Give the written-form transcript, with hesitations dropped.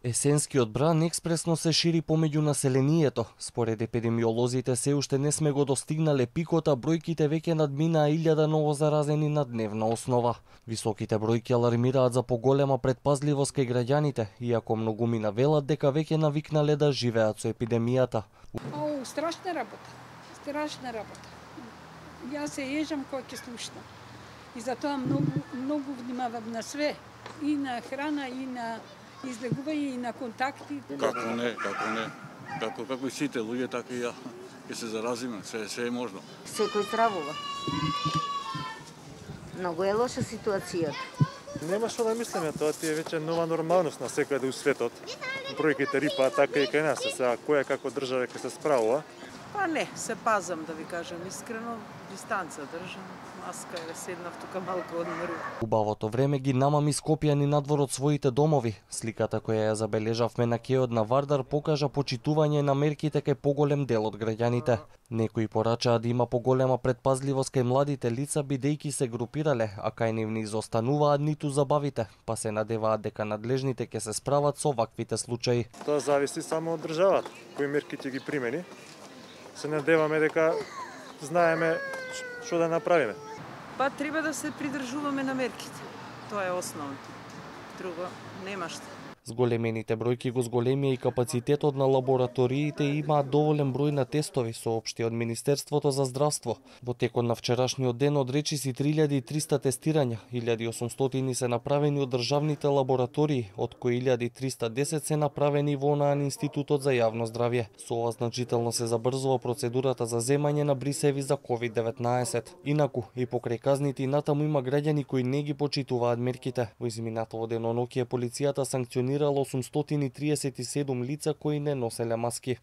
Есенскиот бран експресно се шири помеѓу населението. Според епидемиолозите се уште не сме го достигнале пикот, а бројките веќе надминаа 1000 новозаразени на дневна основа. Високите бројки алармираат за поголема предпазливост кај граѓаните, иако многумина велат дека веќе навикнале да живеат со епидемијата. Страшна работа. Страшна работа. Јас се ежам кога ќе слушнам. И затоа многу внимавам на све, и на храна, и на излегување, и на контакти. Како не. Како и сите луѓе, така и ја ќе се заразиме, се е можно. Секој стравува. Многу е лоша ситуацијата. Нема што да мислиме, тоа ти е веќе нова нормалност на секаде у светот. Бројките рипаат така и кај нас, сега која како држава ќе се справува. Па не, се пазам да ви кажам искрено, дистанца држам, маска е седнав тука малку одмору. Убавото време ги намами Скопјани надвор од своите домови. Сликата која ја забележавме на кеот на Вардар покажа почитување на мерките кај поголем дел од граѓаните. Некои порачаат да има поголема предпазливост кај младите лица бидејќи се групирале, а кај нив не изостануваат ниту забавите, па се надеваат дека надлежните ќе се справат со ваквите случаи. Тоа зависи само од државата, кои мерки ќе ги примени. Се надеваме дека знаеме што да направиме. Па треба да се придржуваме на мерките. Тоа е основно. Друго нема што. Зголемените бројки го зголемија и капацитетот на лабораториите и имаат доволен број на тестови, соопшти од Министерството за здравство. Во текот на вчерашниот ден од речиси 3300 тестирања, 1800 се направени од државните лаборатории, од кои 1310 се направени во ОНАН Институтот за јавно здравје. Со ова значително се забрзува процедурата за земање на брисеви за COVID-19. Инаку, и покрај казните и натаму има граѓани кои не ги почитуваат мерките. Во изминатото деноноќие полицијата санкционирала 837 лица кои не носеле маски.